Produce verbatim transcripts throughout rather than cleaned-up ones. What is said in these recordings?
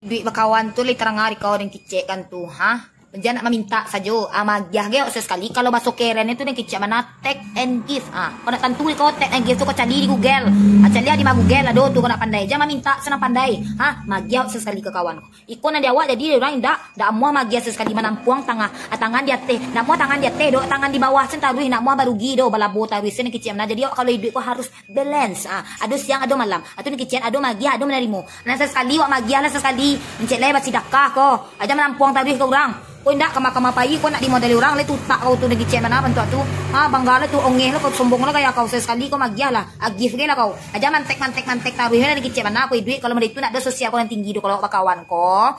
Duit bakawan tu lai tarang ari kau den kicek kan tu, ha? Jan nak mamintak sajo, ah, magiah ge awak sakali. Kalau baso kerennyo tu den kicek bana, take and give. Ah, kau nak tantu di kau take and give tu kau cali di Google. Ah, cali di ma Google ado tu kau nak pandai. Jan mamintak sanang pandai. Ha, magiah awak sakali ka kawan kau. Iko nan di awak jadi urang indak, ndak amuah magiah sakali manampuang tangah, ah, tangan di ateh. Ndak amuah tangan di ateh doh, tangan di bawah sen taruih, ndak amuah barugi doh, balabo taruih sen kicek bana. Jadi awak kalau iduik ko harus balance. Ah, ado siang, ado malam. Ado nan kicen, ado magiah, ado manarimo. Nan sakali wak magiah lah sakali. Encek lai basidakah ko. Aja manampuang taruih ka urang. Ko indak kama-kama pai ko nak dimodali urang lai tutak kau tu nan kicen bana bantuak tu. Ha, bangga lah tu, ongeh lah kau, sombong lah gaya kau. Sakali ko magiah lah. Agih ge lah kau. Aja mantek-mantek-mantek taruih lah nan kicen bana ko iduik. Kalau model itu nak ado sosial ko nan tinggi tu kalau wak bakawan ko.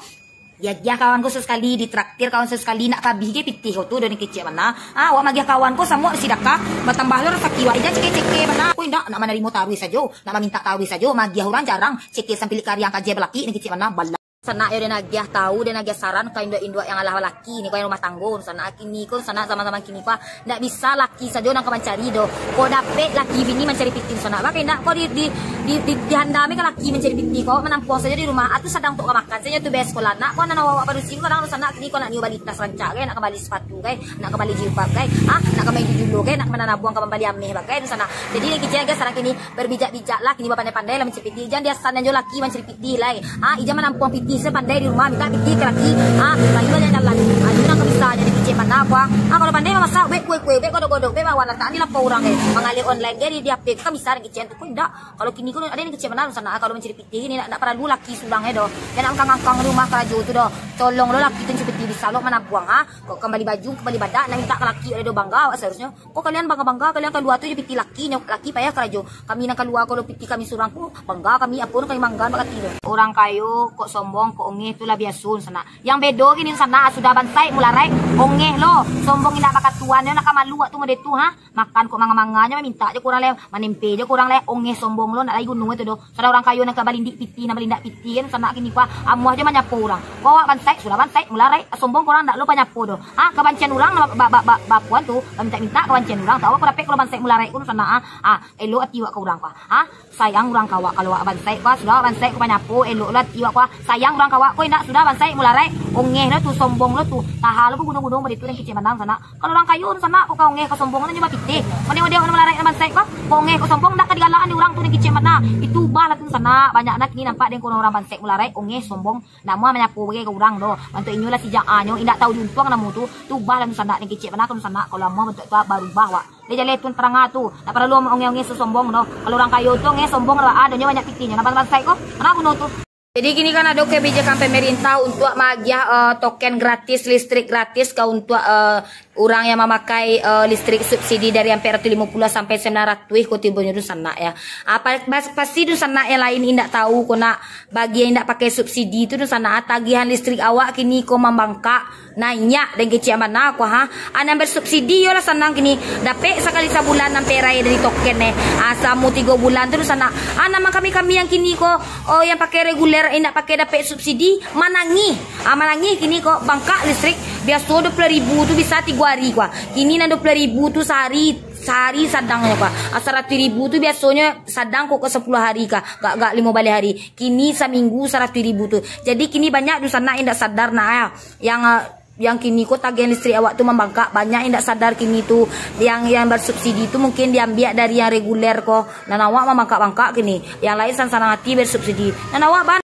Diagiah kawan ko sakali, ditraktir kawan sakali, nak kabih ge pitih kau tu, ado nan kicek bana. Ah, wak magiah kawan ko samo sidakah, batambah lo rasaki wak, ija ceke-ceke bana. Ko indak, nak manarimo taruih sajo, nak mamintak taruih sajo, magiah urang jarang, ceke sampilik kariang kaje balaki, nan kicek bana, bala. Sanak yo, den agiah tahu, den agiah saran ka induak-induak yang alah balaki ni, ko yang rumah tanggo, sanak kini ko, sanak zaman-zaman kini ko, ah, ndak bisa laki sajo nan ka mancari doh. Kok dapek laki bini mancari pitih sanak, bakai indak ko di, di, di, di, dihandami ka laki mancari pitih ko, manampuang sajo di rumah, atu sadang tok ka makan. Sajo tu bes sekolah. Nak ko nan awak-awak padusi ko kadang tu sanak, kini ko nak nio bali tas rancak gai, nak ka bali sepatu gai, nak ka bali jilbab gai, ah, nak ka main jujulo gai, nak ka manabuang ka mambali ameh bagai tu sanak. Jadi nan kicen gai sanak kini, babijak-bijak lah, kini bapandai-pandai lah mancari pitih. Jan diasan jo laki mancari pitih lai. Ah, ija manampuang pitih, sapandai di rumah, minta pitih ka laki. Ah, kayu aja jalan. Ah, itu nan ka bisa jadi kicek bana ko. Ah, kalau pandai mamasak, bek kue-kue, bek godok-godok, bek bawa latakan di lapau urang gai. Mangalih online gai di, di H P, kan bisa nan kicen tu ko indak. Kalau kini ko ado nan kicek bana sanak, kalau mancari pitih ni ndak, ndak paralu laki surang e doh. Jan angkang-angkang rumah karajo tu doh. Tolong lo laki tu mancari pitih, bisa lo manabuang, ha. Kok ka bali baju, ka bali badak, nak minta ka laki, ado bangga awak seharusnyo. Kok kalian bangga-bangga, kalian kalua tu jo pitih laki nyo, laki payah karajo. Kami nan kalua ko lo pitih kami surang ko, bangga kami, apo nan kami bangga bak laki tu. Urang kayo kok sombong, kok ongeh tu lah biaso sanak. Yang bedo kini sanak, sudah bansaik mularaik, ongeh lo, sombong indak bakatuan, yo nak ka malu awak tu model tu, ha. Makan kok manga-manga nyo, mamintak jo ka urang lai, manempe jo ka urang lai, ongeh sombong lo, ndak lai guno itu doh. Sudah urang kayo nan ka balindik pitih, nan balindak pitih kan, sanak kini ko, amuah jo manyapo urang. Kok awak bansaik, sudah bansaik, mularaik, sombong ka urang ndak lo panyapo doh. Ha, kabancian urang ba, ba, ba, bapuan tu, bamintak-mintak kabancian urang tu, awak ko dapek kalau bansaik mularaik ko sanak, ha. Ha, elok ati awak ka urang ko. Ha, sayang urang ka awak, kalau awak bansaik ko, sudah awak bansaik ko panyapo, elok lo ati awak ko. Sayang urang ka awak ko, indak sudah bansaik mularaik, ongeh lo tu, sombong lo tu. Taha lo bagunung-gunung baditu nan kicek bana sanak. Kalau urang kayo tu sanak, kok ka ongeh ka sombong tu nyo bapitih. Model-model urang malaraik nan bansaik ko, kok ongeh kok sombong ndak ka digalak di urang tu nan kicek bana. Itu ubah lah tu sanak. Banyak nan kini nampak den ko urang bansaik mularaik, ongeh sombong. Namo manyapo bagai ka urang doh. Bantuak inyo lah sijak anyo, indak tahu diuntuang namo tu. Tu ubah lah tu sanak nan kicek bana, kalau sanak, kalau amuah bantuak tu barubah wak. Dek jaleh tu tarang tu. Ndak paralu ongeh-ongeh sosombong doh. Kalau urang kayo tu ongeh sombong lah, adonyo banyak pitihnyo. Nan bansaik ko, kana guno tu. Jadi kini kan ado kebijakan pemerintah untuak maagiah, eh, token gratis, listrik gratis ka untuak, eh, urang yang mamakai, eh, listrik subsidi dari ampek ratuih limo puluah sampai sambilan ratuih ko tibonyo tu sanak ya. Ah, pa-, pas-, pasti tu sanak yang lain indak tahu ko nak, bagi yang indak pakai subsidi tu tu sanak, ah, tagihan listrik awak kini ko mambangkak. Naiak den kecek bana ko, ha. Ah, nan bersubsidi yo lah sanang kini. Dapek sakali sabulan nan perai dari token eh. Ah, salamo tigo bulan tu sanak. Ah, nan kami-kami yang kini ko, oh, yang pakai reguler, indak pakai dapek subsidi, manangih. Ah, manangih kini ko, bangkak listrik. Biaso dua puluah ribu tu bisa tigo hari ko. Kini nan dua puluah ribu tu sahari, sahari sadangnyo ko. Ah, saratuih ribu tu biasonyo sadang ko, ko sapuluah hari ka, gak, gak limo baleh hari. Kini saminggu saratuih ribu tu. Jadi kini banyak dunsanak indak sadar nak, ah. Yang, ah, yang kini ko tagihan listrik awak tu mambangkak, banyak indak sadar kini tu. Yang, yang bersubsidi tu mungkin diambiak dari yang reguler ko. Nan awak mambangkak-bangkak kini. Yang lain sanang-sanang ati bersubsidi. Nan awak ban-,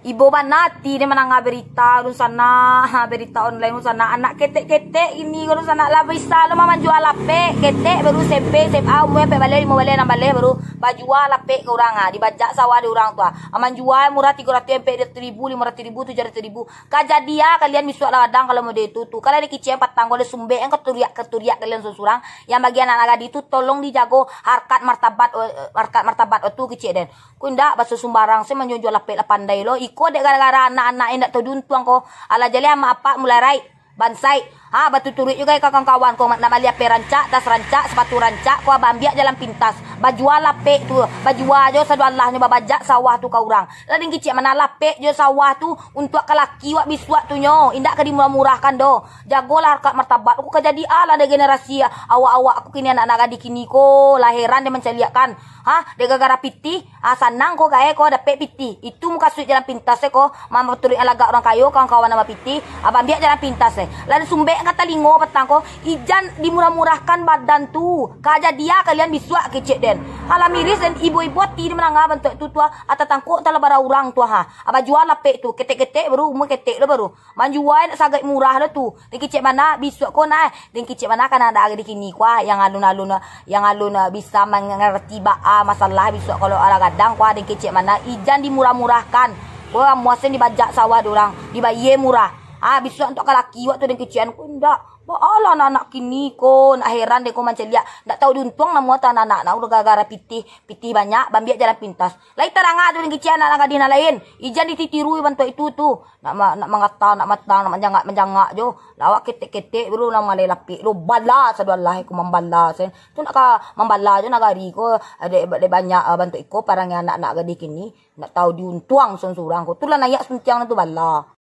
ibo bana ati deh mandanga berita dunsanak, ha, berita online dunsanak. Anak ketek-ketek kini ko dunsanak lah bisa lo mamanjua lapek. Ketek baru S M P, S M A, umua ampek baleh, limo baleh, anam baleh baru bajua lapek ka urang, ha. Dibajak sawah di urang tu, ha. Manjua murah tigo ratuih, ampek ratuih ribu, limo ratuih ribu, tujuah ratuih ribu. Ka jadi ah kalian misuak lah gadang kalau model tu tu. Kalau ado kicik patang ko ado sumbek, yang katuriak-katuriak kalian surang-surang. Yang bagi anak-anak gadih tu tolong dijago harkat martabat, eh, harkat martabat tu kicik den. Ko indak baso sumbarang se manjunjuak lapek lah pandai lo. Iko dek gara-gara anak-anak yang indak tahu diuntuang ko. Alah jaleh amak apak mulai raik. Bansaik. Ah, batuturuik juo ka kawan-kawan ko, nak bali A P rancak, tas rancak, sapatu rancak, ko abambiak jalan pintas. Bajua lapek tu, bajua jo sadoalahnyo babajak sawah tu ka urang. Lah den kecek mano lapek jo sawah tu untuak ka laki wak bisuak tu nyo, indak ka dimurah-murahkan doh. Jagolah harkat martabat, ko ka jadi alah dek generasi awak-awak ko kini, anak-anak gadih kini ko, lah heran den mancaliakkan. Ha, dek gara-gara pitih, ah, sanang ko gae ko dapek pitih. Itu mukasuik jalan pintas e ko, mambaturuik lagak urang kayo, kawan-kawan nan bapitih, ah, bambiak jalan pintas e. Lah den sumbek ka talingo patang ko, ijan dimurah-murahkan badan tu. Ka jadi a kalian bisuak kecek den. Alah miris den, ibo-ibo ati den mandanga bantuak tu tu, ah, tatangkok tala bara urang tu, ha. Ah, bajua lapek tu, ketek-ketek baru, umua ketek lo baru. Manjua nak sagaik murah lo tu. Den kecek mano bisuak ko nah, den kecek mano ka anak gadih kini ko, ah, yang alun-alun, yang alun, ah, bisa mangarati baa masalah bisuak kalau alah gadang ko, ah, den kecek mano ijan dimurah-murahkan. Ko amuah sen dibajak sawah dek urang, dibayie murah. Ah, bisuak untuak ka laki wak tu den kecekan ko indak. Baa lah anak-anak kini ko, nak heran den ko mancaliak. Ndak tau diuntuang namuah tu anak-anak, nah, udah gara-gara pitih, pitih banyak, bambiak jalan pintas. Lai tarang tu den kecek anak-anak gadih nan lain. Ijan dititiru bantuak itu tu. Nak ma-, nak mangata, nak matang, nak manjangak-manjangak jo. Lah awak ketek-ketek baru nan malai lapik lo. Bala sadoalahnyo ko mambala sen. Tu nak ka mambala jo nagari ko. Dek, dek banyak, ah, bantuak iko parangai anak-anak gadih kini. Ndak tau diuntuang surang-surang ko. Tu lah naiak suntiang tu bala.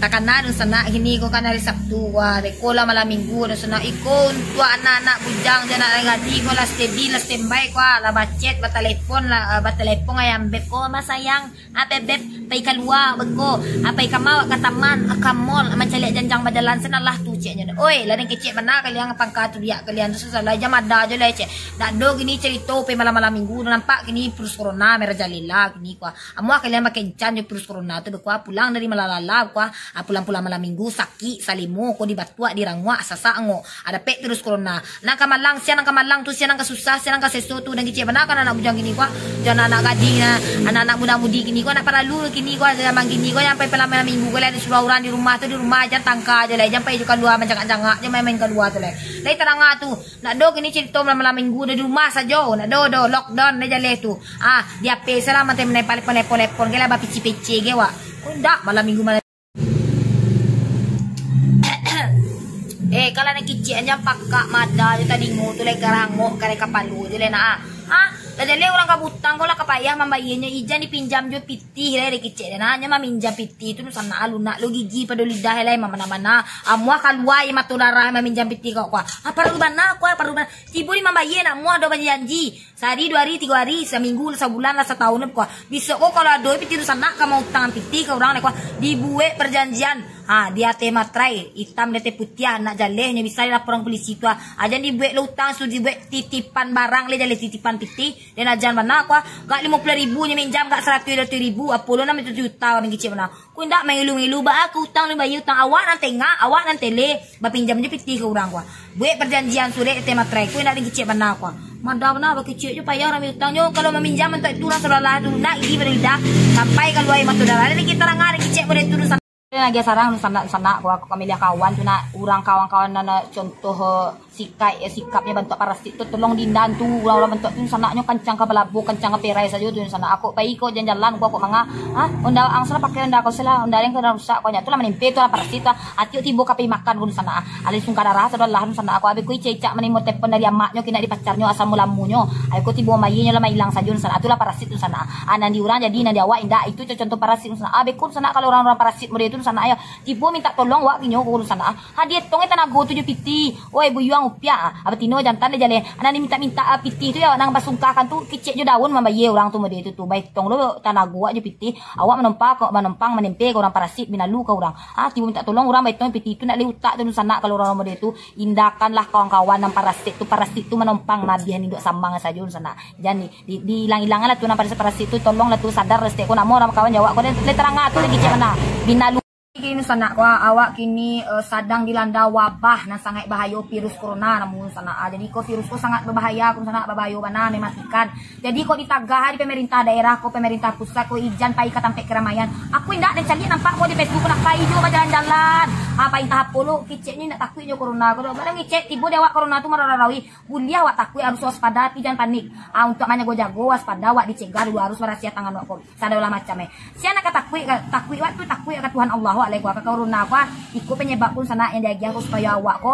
Takana dunsanak kini ko kan hari Sabtu, wah, beko lah malam minggu dunsanak. Iko untuak anak-anak bujang jo anak gadih ko lah steady, lah standby ko, ah, lah bacet, batalepon, lah, ah, batalepon ayam beb ko, "Mas sayang, ape beb, pai kalua beko, apai ka ma wak ka taman, ka mall, mancaliak janjang bajalan sen alah tu," ceknyo. Oi, lah den kecek bana kalian pangka tu biak kalian tu salah jam ada jo lah cek. Dak do kini cerito pai malam-malam minggu, nampak kini virus corona merajalela kini ko. Amuah kalian bakencan jo virus corona tu, beko pulang dari malalala, beko, ah, pulang-pulang malam minggu, sakik, salimo, ko dibatuak, diranguak, sasak angok. Ada pek virus corona. Nan ka malang, sia nan ka malang tu, sia nan ka susah, sia nan ka seso tu, den kecek bana kan anak bujang kini ko, ah. Jo anak-anak gadih, ah, anak-anak muda-mudi kini ko, anak paralu kini ko, zaman kini ko, sampai malam minggu ko, lah disuruah urang di rumah tu, di rumah, jan tangka jo lah, jan pai jo kalua, manjangak-jangak jo main-main kalua tu lah. Lai tarang tu. Ndak do kini cerito malam-malam minggu, di rumah sajo. Ndak do, do, lockdown deh jaleh tu. Ah, di A P salah, manteh menempel telepon-telepon, ke lah bapicik-picik ke wak. Ko ndak malam minggu malam. Eh, kalau nak kicik aja pakak mada je tadingo tu, lai karangok, karai kapalo je lai nak, ah. Ah, lah jaleh urang ka butang ko lah ka payah mambayianyo, ijan dipinjam jo pitih lai dikicik dan hanyo maminjam pitih tu, sanak lunak lo gigi pado lidah lai mamana-mana. Amuah kalua aia mato darah maminjam pitih kau kuah. Ah, paralu bana kuah, paralu bana. Tibo di mambayia nak muah do bajanji. Sahari, duo hari, tigo hari, saminggu, sabulan lah, satahun lah kuah. Bisuak ko kalau ado pitih tu sanak ka mautang pitih ka urang lai kuah. Dibuek parjanjian. Ha, di ateh materai, itam di ateh putiah, nak jaleh nyo bisa dilaporan polisi tu ah. Ajan dibuek lo utang, suruh dibuek titipan barang lai jaleh titipan pitih. Den ajan bana kuah, gak limo puluah ribu nyo minjam, gak saratuih duo ratuih ribu, apo lo nan minta juta, den kicik bana. Ko indak mangilu-ngilu, baa ka utang, den bayia utang, awak nan tengah, awak nan tele, bapinjam jo pitih ka urang kuah. Buek parjanjian surek teh materai, ko indak den kicik bana kuah. Mada bana, bakicik jo payah urang utang nyo, kalau maminjam untuak itu urang sabalah tu, nak gigi pado lidah, sampai kalua aia mato darah, den kicik tarang, den kicik pado itu. Agiah sarang, sanak-sanak, ko aku kamiliah kawan tu nak, urang kawan-kawan nan, eh, contoh, eh, sikap, eh, sikapnyo bantuak parasit tu, tolong diindahan tu, urang-urang bantuak tu, sanaknyo kancang ka balabuah, kancang ka perai sajo tu, sanak. Aku pai ko jalan-jalan, ko aku manga, ha? Onda ang salah pakai onda kau salah, onda yang kena rusak, ko nya tu lah manimpe tu lah parasit tu, ah. Ati tibo ka pai makan ko sanak, ah. Alai sungka darah, sadolah tu sanak, aku abih ko icak-icak manimo telepon dari amaknyo, kini dari pacarnyo, asam ulamunyo. Ai ko tibo mayinyo lah mailang sajo tu sanak, tu lah parasit tu sanak. Ah, nan di urang jadi, nan di awak indak, itu contoh parasit tu sanak. Ah, beko tu sanak, kalau urang-urang parasit model tu sanak, yo. Tibo minta tolong wak kinyo ko sanak. Ha, dietong tanago tu jo pitih. Oi, buyuang upiak. Ah, batino jantan deh jaleh. Nan diminta-minta, ah, pitih tu yo, nan basungkahkan tu, kicek jo daun mambayie urang tu model tu tu. Baetong lo tanago wak jo pitih. Awak manompang, ko manompang manempe ka urang parasit, binalu ka urang. Ah, tibo minta tolong urang baetong pitih tu nak lai utak tu sanak kalau urang model tu. Indakanlah kawan-kawan nan parasit tu, parasit tu manompang nabihan induak samang sajo sanak. Jan di, di, diilang-ilanganlah tu nan parasit-parasit tu, tolonglah tu sadar, stek ko namo urang kawan jawab ko, lai tarang tu lai kicek bana. Binalu. Kini sanak ko, awak kini, eh, sadang dilanda wabah nan sangaik bahayo, virus corona namun sanak. Ah, jadi ko virus ko sangat babahaya, ko sanak babahayo bana, mematikan. Jadi ko ditagah di pemerintah daerah ko, pemerintah pusat ko, ijan pai ka tampek keramaian. Aku indak den caliak nampak ko di Facebook ko nak pai jo bajalan-jalan. Ah, pai antah apo lo, kiceknyo indak takuik jo corona ko do. Bana ngicek tibo di awak corona tu mararau-raui. Buliah awak takuik, harus waspada, tapi jan panik. Ah, untuak manjago-jago, waspada, awak dicegah dulu, harus barasiah tangan awak ko. Sadonyo lah macam, eh. Sia nan ka takuik, ka, takuik awak tu, takuik ka Tuhan Allah. Awak lai ko, ka corona ko, iko panyabab ko sanak nan diagiah ko supayo awak ko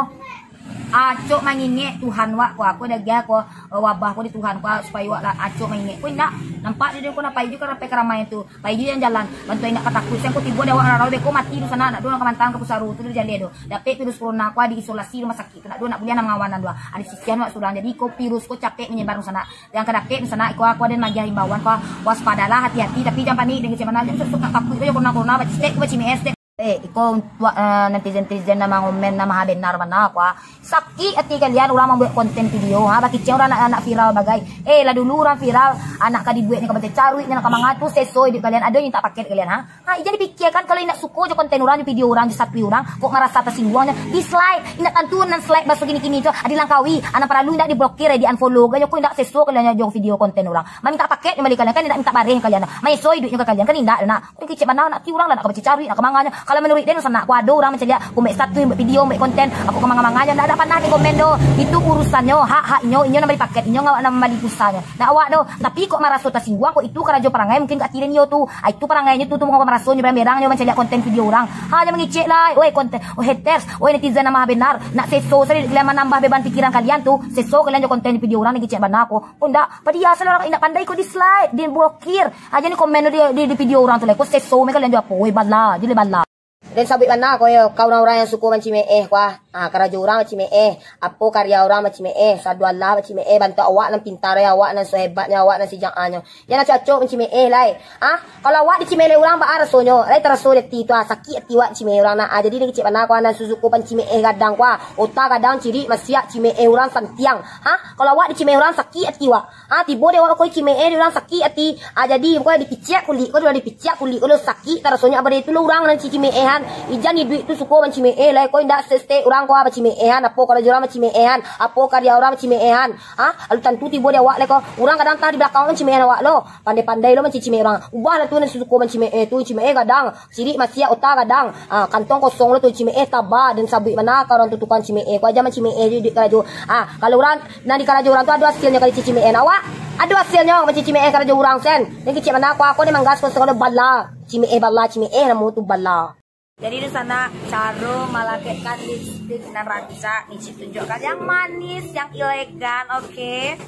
acok mangingek Tuhan wak ko, ko diagiah ko, eh, wabah ko di Tuhan ko, supayo awak lah acok mangingek. Ko indak, nampak jo ko, napai jo ka rapek ka ramai tu. Pai jo jalan-jalan, bantuak indak ka takuik. Siang ko tibo di awak rarau, beko mati tu sanak, nak do nak ka mantang ka pusaro tu di jaleh tu. Dapek virus corona ko, diisolasi rumah sakit tu, nak do nak buliah nak mangawan nan do. Ado sisian wak surang, jadi ko virus ko capek manyebar tu sanak. Nan ka dapek tu sanak, iko aku ado magiah imbauan ko, waspadalah, hati-hati, tapi jan panik, jan kecek bana, jan sok-sok nak takuik tu jo corona-corona, baci stek ko, baci M S dek. Eh, iko untuak, eh, netizen-netizen nan mangomen, nan maha benar bana ko, ah. Sakik ati kalian urang mambuek konten video, ha, bakicek urang nak, nak viral bagai. Eh, lah dulu urang viral, anak ka dibueknyo ka bacacaruik, nyo ka manga tu, seso iduik kalian, ado nan tak paket kalian, ha? Ha, jan dipikiakan, kalau indak suko jo konten urang, jo video urang, jo satui urang, kok marasa tasingguang nyo, dislike. Indak tantu nan slike baso kini-kini tu, adi langkawi, anak paralu indak diblokir, di-unfollow, gayo ko indak seso kalian jo video konten urang. Mamintak paket nyo bali kalian, kan indak mintak bareh kalian, maeso iduiknyo ka kalian, kan indak, nak. Kecek bana, nak ti urang lah, nak ka bacacaruik, nak ka manganyo. Kalau manuruik den sanak, ko ado urang mancaliak, ko buek status, buek video, buek konten, aku ka manga-manganyo, ndak, ndak panah di komen doh. Itu urusannyo, hak-haknyo, inyo nan bali paket, inyo nan bali pulsanyo. Ndak awak doh. Tapi kok maraso tasingguang, kok itu karajo parangai, mungkin ka ati den iyo tu. Ah, itu parangainyo tu, tu maraso nyo berang-berang nyo mancaliak konten video urang. Ha, jan mangecek lah, oi konten, oi haters, oi netizen nan maha benar. Nak seso sajo kalian manambah beban pikiran kalian tu, seso kalian jo konten video urang, nan kecek bana ko. Oh, ndak, padiah salah urang indak pandai ko dislike, diblokir. Aja ni komen di, di, di video urang tu lai, ko seso me kalian jo apo, weh, bala, je le bala. Den sabuik bana ko yo, ka urang-urang nan suko mancimeh ko ah. Ah, karajo urang mancimeh, apo karya urang mancimeh, sadu alah mancimeh, bantuak awak nan pintar, awak nan sahebatnyo, awak nan sajaanyo. Jan acok-acok mancimeh lai. Ah, kalau awak dicimeh dek urang, baa rasonyo? Lai taraso di ati tu ah, sakik ati awak dicimeh urang nah. Ah, jadi den kecek bana ko ah, nan suko mancimeh gadang ko ah. Ota gadang, cirik masiak, cimeh urang santiang. Ha? Kalau awak dicimeh urang, sakik ati awak. Ha, tibo dek awak ko cimeh dek urang, sakik ati. Ha, jadi pokoknyo dipiciak kulik ko, lah dipiciak kulik ko, lah sakik tarasonyo. Abah itu lah urang nan cimehan. Ijan iduik tu suko mancimeh lai ko, indak sestek urang ko bacimehan, apo karajo urang bacimehan, apo karya urang bacimehan. Ha? Lalu tantu tibo dek awak lai ko. Urang kadang tah di balakang mancimehan awak lo. Pandai-pandai lo mancimeh urang. Ubah lah tu nan suko mancimeh tu, cimeh gadang. Cirik masiak, ota gadang. Ah, kantong kosong lo tu, cimeh taba, den sabuik bana ka urang tu tukang cimeh. Ko aja mancimeh di, di karajo. Ah, kalau urang nan di karajo urang tu ado hasilnyo kali cimeh awak. Ado hasilnyo mancimeh karajo urang sen. Den kecek bana ko, ko ni manggas ko sagalo bala. Cimeh bala, cimeh namo tu bala. Jadi di sana caro malakekkan lipstik nan rancak, Nicip tunjukkan yang manis, yang elegan, oke.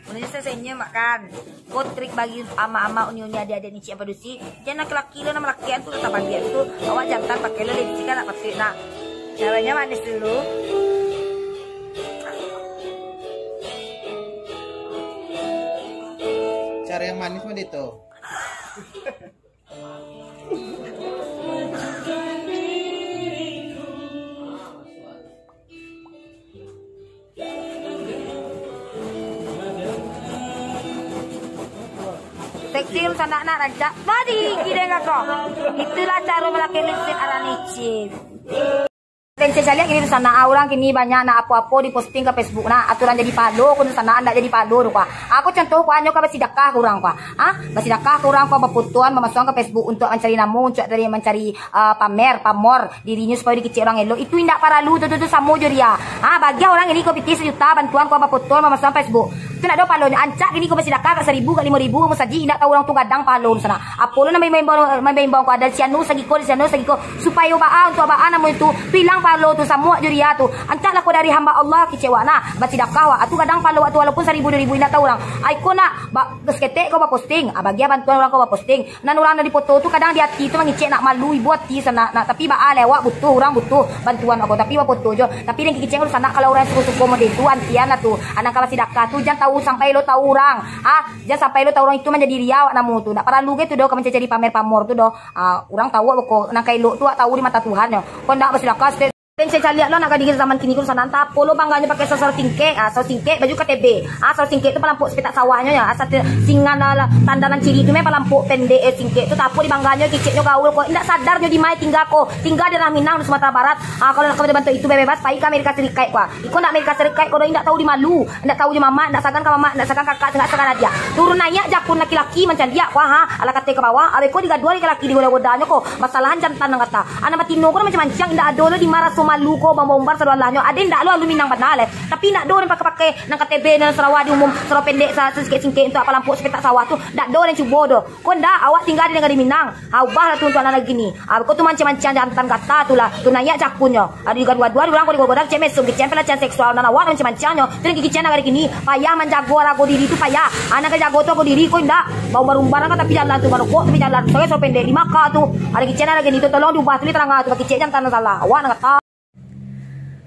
Manis senyum makan. Ko trik bagi ama-ama, uni-uni, adik-adik Nicip yang padusi. Jan laki-laki lo nan malakekan tu, lah tabaliak tu. Awak jantan pakai lo lipstik, kan nak patuik nak. Caranya manis dulu. Cara yang manis mah itu. Seksi sanak nak rancak. Tadi gideng kakak. Itulah cara malakek lipstik ala Nicip. Tencen caliak kini tu sanak, ah, urang kini banyak nak apo-apo diposting ka Facebook nah. Aturan jadi palo ko tu sanak, ndak jadi palo tu kua. Aku contoh kua, nyo ka basidakah ka urang kua. Ah, basidakah ka urang kua, bapotoan, bamasuakan ka Facebook untuak mancari namo, untuak dari mancari ah, pamer, pamor dirinyo supayo dikecek urang elok, itu indak paralu tu, tu, tu samo jo riya. Ah, bagian urang ini ko pitih sajuta bantuan ko bapotoan, bamasuakan Facebook. Tu ndak ado palonyo, ancak kini ko basidakah ka saribu, ka limo ribu, musajik indak tahu urang tu gadang palo tu sanak. Apo lo nan maimbau-imbau, maimbau-imbau ko, ado sianu sagiko, di sianu sagiko, supayo baa, untuak baa namo itu, tu ilang palo tu, samo jo riya tu. Ancaklah ko dari hamba Allah, kecek wak nah, basidakah wak, atu gadang palo wak tu, walaupun saribu, duo ribu, indak tahu urang. Ai ko nak, ba-, saketek ko baposting, ah, bagian bantuan urang ko baposting. Nan urang nan dipoto tu kadang di ati tu mangecek nak malu, ibo ati sanak, nak, tapi baa lai awak butuh, urang butuh bantuan awak ko, tapi bapoto jo. Tapi nan kecek tu sanak, kalau urang suko-suko model tu, antian lah tu. Anak ka basidakah tu, jan tahu sampai lo tahu urang. Ah, jan sampai lo tahu urang itu manjadi riya awak namo tu. Ndak paralu ge tu doh, ka mancari pamer pamor tu doh. Ah, urang tahu awak ko, nan ka elok tu awak tahu di mato Tuhan nyo. Ko ndak basidakah, Tencen caliak lo anak gadih zaman kini ko sanak, antah apo lo bangganyo pakai saus-saus singkek, ah, saus singkek baju K T B, ah, saus singkek tu palampok sapetak sawahnyo, ya, ah, sate-, singan, ah, lah, tanda nan ciri tu meh palampok pendek, eh, singkek tu, tapi di bangganyo kiciknyo gaul ko, indak sadar nyo di ma tingga ko, tingga di daerah Minang di Sumatera Barat, ah, kalau nak ka bantuak itu bebas, pai ka Amerika Serikat ko, ah, iko ndak Amerika Serikat ko doh, indak tahu di malu, indak tahu jo mamak, indak sagan ka mamak, indak sagan kakak, indak sagan adiak, turun naiak jakun laki-laki mancaliak ko, ha, alah kato ka bawah, abeh ko digaduah laki-laki digoda-godanyo ko, masalahan jantan nan kata, anak batino ko nan mancang-mancang, indak ado lo di ma raso Alu ko bambar-umbar sado alahnyo. Ade ndak lo alu Minang bana lai. Tapi ndak do den pakai-pakai nan K T B, nan sarawa di umum, sarawa pendek, sa-, sasingkek-singkek untuak palampok sapetak sawah tu. Ndak do den cubo doh. Ko ndak, awak tingga di nagari Minang. Ha, ubahlah tu untuak nan nagari kini. Ha, ko tu manciang-manciang jantan gata tu lah. Tu naiak cakunyo. Ado digaduah-gaduah, urang ko digoda-goda, kecek mesum, kecek pelecehan seksual, nan awak nan manciang-manciangnyo. Tu nan kecek nagari kini. Payah manjago arago diri tu payah. Ha, nan ka jago tu arago diri, ko indak. Baumbar-umbar nan ka tapi jalan tu, marokok tapi jalan. Sawah-sawah pendek di Makkah tu. Ado kecek nagari kini tu, tolong diubah tu, diterangkan tu, bakecek jantan nan salah. Awak nan gata.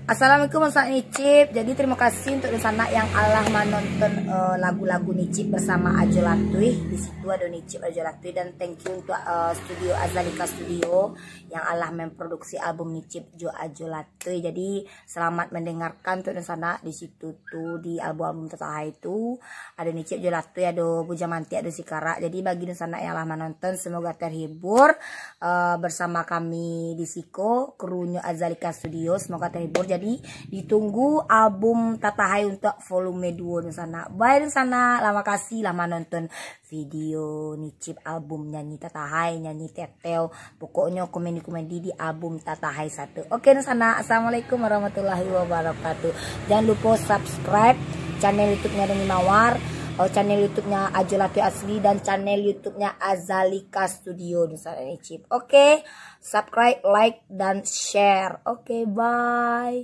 Assalamualaikum, Ustaz Nicip. Jadi, terima kasih untuk dunsanak yang alah manonton, eh, lagu-lagu Nicip bersama Ajo Latuih. Di situ ada Nicip Ajo Latuih, dan thank you untuk, eh, studio Azalika Studio yang alah memproduksi album Nicip jo Ajo Latuih. Jadi, selamat mendengarkan untuk dunsanak di situ tu, di album-album Tatahai tu. Ado Nicip jo Latuih, ado Bujang Mantik, ado Sikarak. Jadi, bagi dunsanak yang lah manonton, semoga terhibur, eh, bersama kami di siko, krunyo Azalika Studio. Semoga terhibur. Jadi, ditunggu album Tatahai untuk volume duo dunsanak. Bye dunsanak, lah makasih lah manonton video Nicip album nyanyi Tatahai, nyanyi Teteo. Pokoknyo komedi-komedi di album Tatahai satu. Oke, dunsanak. Assalamualaikum warahmatullahi wabarakatuh. Jangan lupa subscribe channel YouTube-nya Doni Mawar, oh, channel YouTube-nya Ajo Latuih Asli, dan channel YouTube-nya Azalika Studio, dunsanak Nicip. Oke, subscribe, like, dan share. Oke, bye.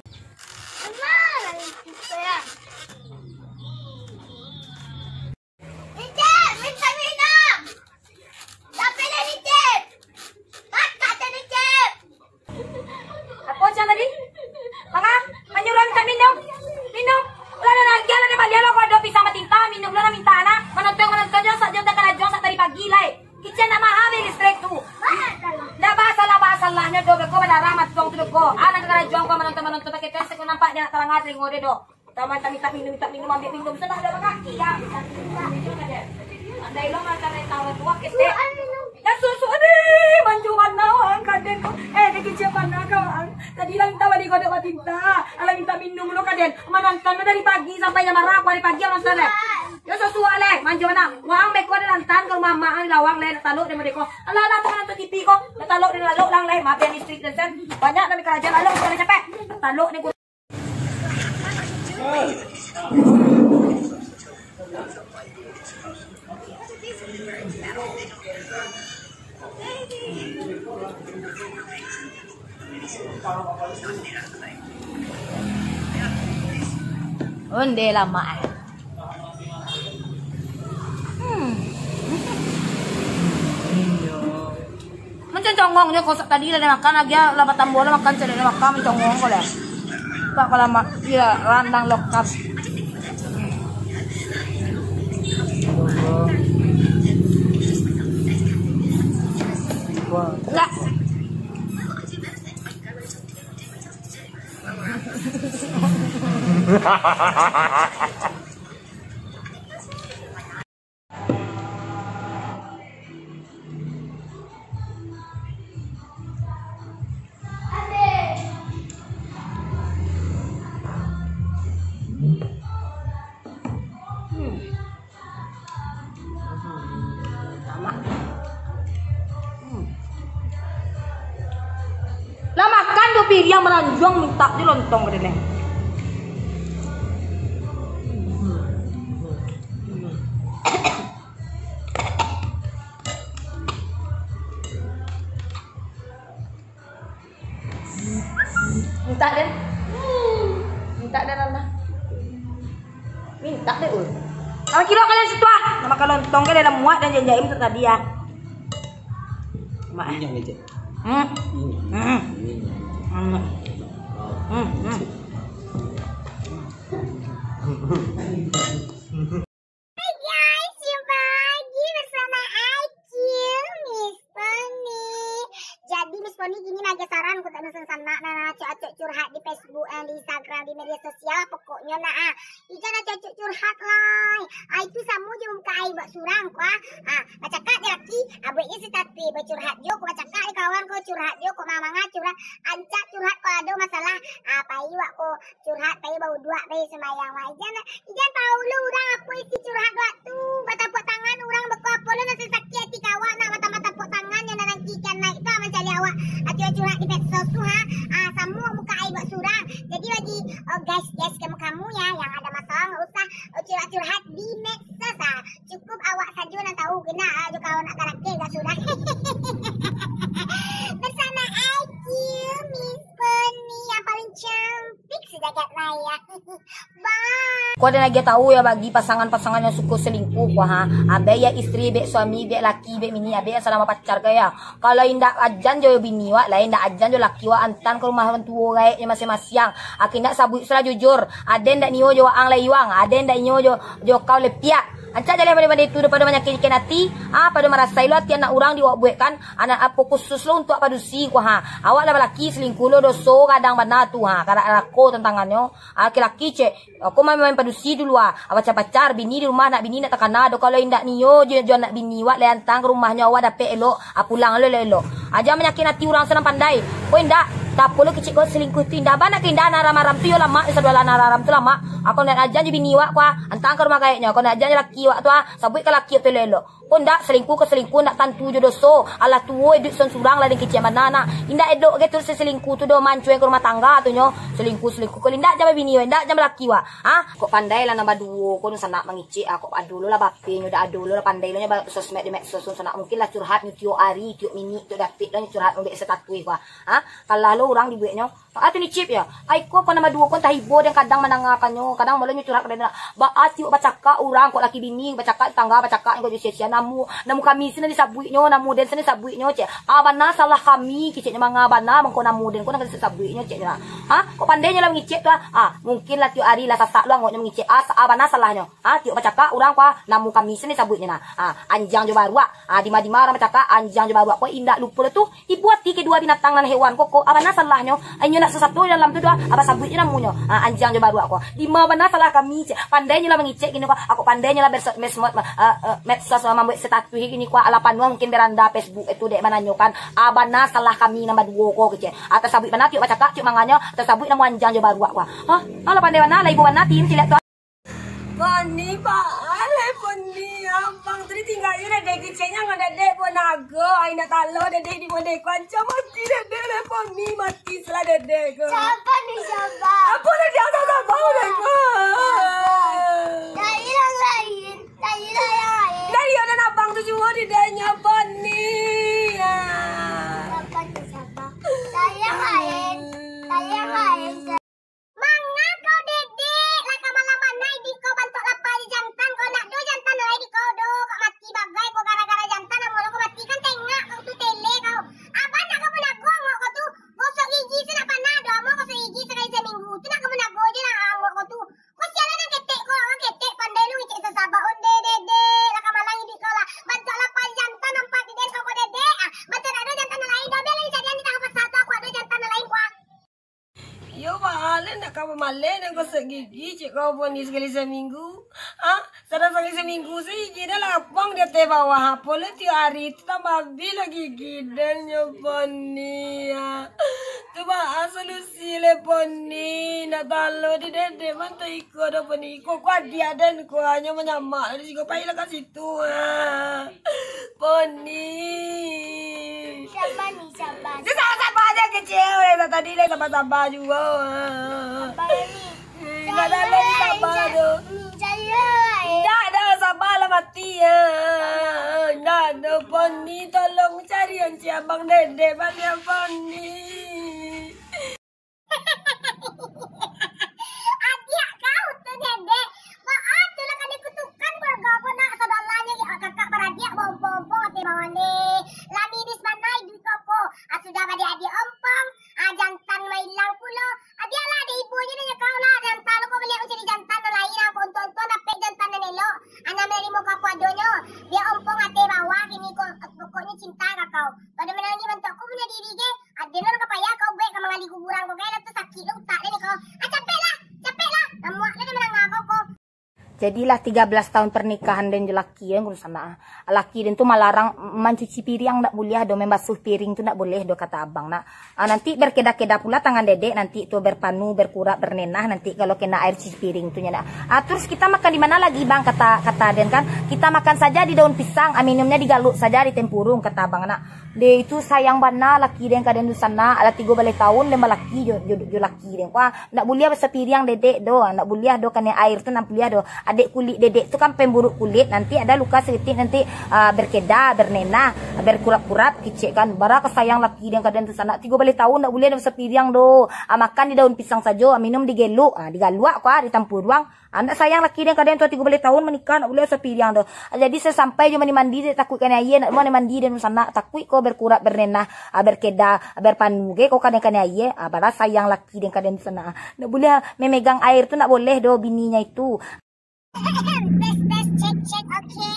Nicip, minta minum. Tapi lah Nicip. Kakak tu Nicip. Apo Cang tadi? Manga, manyuruah minta minum. Minum. Lah, lah, lah, lah, lah, lah, kau ado pisang batinta, minum lah, minta anak. Manonton, manonton, jo, sak jam takana jo, sak tadi pagi lai. Kicen nak maha beli listrik tu. Ndak basalah, basalahnyo do, beko badarah matuang tu beko. Anak takana jo, kau manonton, manonton, pakai tu, seko nampak dia nak taranga telingo dia do. Taman tak minta minum, minta minum, ambil minum. Sudah ada bakaki, ya. Andai lo makan dari tahun tua, ketek. Ya, susu, aduh, manjo bana, wang, kaden ko. Eh, dia kecil bana, kawan. Tadi lah minta balik kodok batinta. Alah minta minum lo, kaden. Manonton lo dari pagi sampai jam bara, dari pagi manonton, eh. Ya, susu, aleh, manjo bana. Wang, beko ada lantan, kalau mamak, ada lawang, leh, nak taluk dia, mereka. Alah, alah, tu manonton T V ko. Nak taluk dia, taluk, lang, leh. Maaf ya, listrik, dan sen. Banyak nak kerajaan, alah, kita capek. Nak taluk dia, Onde lamak, eh. Hmm. Mancongong nyo, kok tadi lah den makan, lagi lah batambah lah makan, cari lah makan, mancongong ko lah. Pak, kalau mak, iya, randang lokap. Enggak. Lah makan tu piriang maranjuang, minta je lontong ka denai. Minta den. Minta den, Nanda. Minta den, ul. Kalau kilo kalian situ ah. Nak makan lontong kan dalam muat dan janjai untuk tadi ah. Mak. Minyak ni, Cik. Hmm. Minyak. Hmm. Minyak. Hmm. Hmm. Hmm. Hai guys, jumpa lagi bersama Ayu, Miss Poni. Jadi Miss Poni kini lagi saran ko tak nak sanak, nah, acok-acok curhat di Facebook, eh, di Instagram, di media sosial, pokoknyo nah, ah. Ijan acok-acok curhat lai. Ah, itu samo je muka ai buat surang ko, ah. Ah, bacakak je laki, ah, buek je status, bacurhat jo ko, bacakak je kawan ko, curhat jo ko, manga-manga curhat, ancak curhat ko ado masalah, ah, pai wak ko, curhat, pai bauduak, pai sumbayang, wak. Ijan, ijan tahu lo urang apo isi curhat wak tu. Batapuak tangan urang beko apo lo nan sakik ati ka awak, nak batambah tapuak tangan nyo nan nangki ikan naik tu, ah, mancari awak. Ati curhat di medsos tu, ha. Ah, samo muka ai Ko den agiah tahu yo bagi pasangan-pasangan yang suko selingkuh ko ha. Abek yo istri, bek suami, bek laki, bek bini, abek yang sadang bapacar ko yo. Kalau indak ajan jo bini wak, lai indak ajan jo laki wak, antaan ka rumah urang tuo gaeknyo masiang-masiang. Aki indak sabuik sulah jujur. Aden ndak nio jo waang lai iwang, aden ndak nio jo, jo kau lepiak. Ancak jaleh pado-pado itu, daripada manyakikan ati, ah, pado marasai lo ati anak urang di wak buek kan, anak apo khusus lo untuak padusi ko ha. Awak lah balaki selingkuh lo doso gadang bana tu ha, karak narako tantangannyo. Laki-laki cek, aku main-main padusi dulu ah. Pacar-pacar, bini di rumah, anak bini nak takana do. Kalau indak nio jo, jo anak bini wak lai antaan ka rumahnyo, awak dapek elok, ah, pulang lo elok-elok. Aja manyakin ati urang sanang pandai. Ko indak, tapo lo kicik ko selingkuh tu indak. Bana ke indak, anak aram-aram tu yo lamak, yo sadoalah anak aram tu lamak. Ako nak ajan jo bini wak ko ah, antaan ka rumah gaeknyo. Ako nak ajan jo laki wak tu ah, sabuik ka laki wak tu elok-elok. Ko ndak, selingkuh ka selingkuh, ndak tantu jo doso. Alah tuo iduik surang-surang lah den kicek bana nak. Indak elok ge tu si selingkuh tu doh, mancuang ka rumah tangga tu nyo. Selingkuh, selingkuh, kalau indak jan babini wak, indak jan balaki wak. Ha? Kok pandai lah nan baduo ko, dunsanak mangicek ah, kok ado lo lah bapenyo, dak ado lo lah pandai lo nyo ba-, sosmed di medsos, dunsanak mungkin lah curhat nyo tiok ari, tiok minik, tiok dapek lo nyo curhat, ambek status ko ah. Ha? Kalah lo urang dibueknyo. Ah, tu ni Cip yo. Ai ko, ko nan baduo ko antah ibo den kadang mandangakan nyo, kadang malah nyo curhat ka den. Baa tiok bacakak urang, kok laki bini bacakak, tangga bacakak, kok jo sia-sia namu, namu kami sinan disabuiknyo, namu den sinan disabuiknyo, cek. Ah, bana salah kami, kiceknyo manga bana mangko namu den ko nan disabuiknyo, ceknyo lah. Ha? Kok pandai nyo lah mangicek tu ah. Ah, mungkin lah tiok ari lah sasak lo angoknyo mangicek. Ah, sa-, ah, bana salahnyo. Ah, tiok bacakak urang ko ah, namu kami sinan disabuiknyo nah. Ah, anjiang jo baruak. Ah, dima-dima urang bacakak, anjiang jo baruak ko indak lupo lo tu. Ibo ati kedua binatang nan hewan ko, ko, ah, bana salahnyo? Inyo nak sasato dalam tu doh, ah, basabuik jo namonyo. Ah, anjiang jo baruak ko. Dima bana salah kami, cek. Pandai nyo lah mangicek kini ko. Ako pandai nyo lah berso-, mesmot, ah, ah, medsos, ah, mambuek status kini ko. Alah panuah mungkin beranda Facebook itu dek mananyokan. Ah, bana salah kami nan baduo ko, kecek. Ah, tasabuik bana tiok bacakak, tiok manganyo, tasabuik namo anjiang jo baruak ko. Hah? Alah pandai bana, lah ibo bana, tim, cilek tu. Poni, baa lai Poni, abang tu ditinggai dek kiceknyo, ngan dedek buah nago, ai nak talo dedek di modeko, ancam mati dedek lai Poni, mati salah dedek ko. Sabar ni, sabar. Apo lah dia tak sabar dek ko? Cari yang lain, cari lah yang lain. Dari yo dan abang tu juo di denyo Poni. Ah. Sabar ni, sabar. Cari yang lain, cari yang lain. Manga kau dedek, lah ka malam bana iduik kau bantuak lapa di jantan, kau nak do jantan lai di kau do, kau mati bagai kau gara-gara jantan, amun kau mati kan tengak kau tu tele kau. Abah nak kau pun ago angok kau tu, gosok gigi tu nak panah do, amun gosok gigi sakali saminggu tu nak kau pun ago je lah angok kau tu. Kau sialah nan ketek kau, urang ketek pandai lu ngecek sasabak onde dedek, lah ka malam iduik kau lah, bantuak lapa di jantan nampak di den kau, kau dedek, ah, bantuak nak do jantan nan lain do, bialah dicarian di tangan paksa tu, aku ado jantan nan lain kau. Iyo, baa lai nak ka bamaleh nan gosok gigi, cek kau Poni sakali saminggu. Ha? Sadang sakali saminggu sagigi dah lapang di ateh bawah. Apo lah tiok ari tu tambah abih lah gigi den nyo Poni, ha. Tu baa solusi le Poni? Nak talo di dedek mantah iko doh Poni. Iko ko adiak den ko, hanyo manyamak di siko, pailah ka situ, ha. Poni. Sabar ni, sabar. Dia sabar-sabar aja kecil. Dari tadi lah sabar-sabar juga. Sabar ni. Hmm, nak dalam sabar tu. Cari lah. Dah, dah, sabar lah mati ya. Dah, dah, Poni, tolong cari yang si abang dedek, bang, ya, Poni. Adiak kau tu, Dedek. Baa tu lah ka dikutukan keluarga ko nak, saudaranyo kakak baradiak baompong-ompong ateh bawah ni. Lah miris bana iduik ko ko. Ah, sudah badiak-adiak ompong, ah, jantan mailang pulo. Ah, bialah, dek ibo je dek kau lah, jantan lo ko baliak mancari jantan nan lain, ah, ko untuang-untuang dapek jantan nan elok. Ah, nan manarimo kau apo adonyo. Biak ompong ateh bawah kini ko, pokoknyo cinta ka kau. Pado manangih bantuak ko punyo diri ge. Aden lo nan ka payah kau buek ka manggali kuburan ko, kau lah tu sakik lo utak den ko. Ah, capek lah, capek lah. Namuak lah den mandanga kau ko. Jadilah tiga belas tahun pernikahan den jo laki den, kudu sanak ah. Laki den tu malarang mancuci piriang, ndak buliah do, mambasuh piring tu ndak buliah do, kato abang nak. Ah, nanti berkeda-keda pula tangan dedek, nanti tu berpanu, berkurap, bernenah, nanti kalau kena air cuci piring tu nyo nak. Ah, terus kita makan di mana lagi, Bang? Kata, kata den kan, kita makan saja di daun pisang, ah, minumnya digaluh saja di tempurung, kato abang nak. Deh, itu sayang bana laki den ka den tu sanak, lah tigo baleh taun den balaki jo, jo, jo laki den. Wah, ndak buliah basapiriang dedek do, ndak buliah do kanai air tu, ndak buliah do. Adek kulik dedek tu kan pemburuk kulit, nanti ada luka saketek, nanti Ah, berkeda, bernenah, berkurap-kurap, kicek kan. Bara ka sayang laki den ka den tu sanak. Tigo baleh taun ndak buliah den sapiriang doh. Ah, makan di daun pisang sajo, ah, minum di geluk. Ah, digaluak ko, ah, di tampuruang. Ah, ndak sayang laki den ka den tu, tigo baleh taun manikah, ndak buliah sapiriang doh. Ah, jadi sasampai jo mandi-mandi, dek takuik kanai aia, ndak mandi-mandi den tu sanak. Takuik ko berkurap, bernenah, ah, berkeda, ah, berpanu ge ko ka den kanai aia. Ah, bara sayang laki den ka den tu sanak. Ah, ndak buliah memegang air tu, ndak boleh doh bininyo itu. Tes, tes, cek, cek, oke.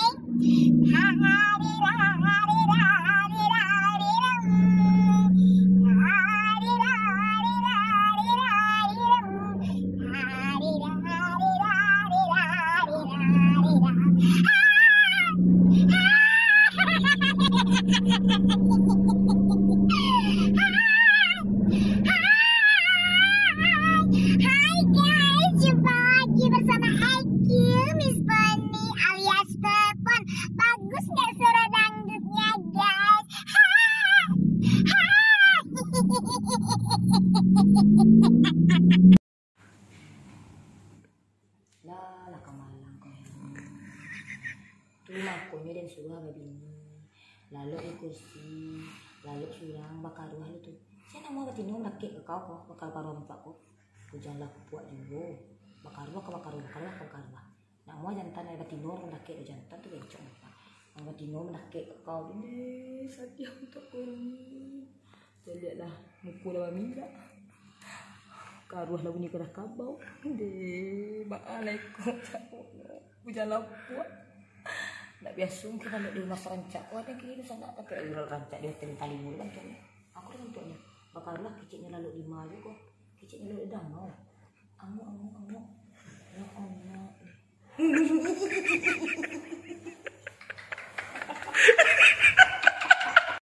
Hai guys, jumpa lagi bersama Eki, Miss Poni alias Pepon. Bagus nggak suara dangdutnya, guys? Lah, lah ka malang ko, ya. Tu makonyo den suruah babini. Lalok di kursi, lalok surang, bakaruah lu tu. Sia namuah batino mandakek ka kau ko, bakaruah-karuah muka ko. Ujan lah kupuak juo. Bakaruah ka bakaruah, bakaruah ka bakaruah. Namuah jantan lai batino mandakek, jantan tu bencong muka. Namuah batino mandakek ka kau, ini sadiah untuak ko ni. Caliaklah, muko lah baminyak. Karuah lah bunyi kadah kabau. Deh, baa lai ko, cak ko. Ujan lapuak. Ndak biaso mungkin kalau di rumah sarancak. Wah, ada kini sanak, tapi urang rancak di hotel bintang limo tu bantuaknyo. Aku dah bantuaknyo. Bakaruah keceknyo lalok lima juo ko. Keceknyo lalok damau. Angok, angok, angok.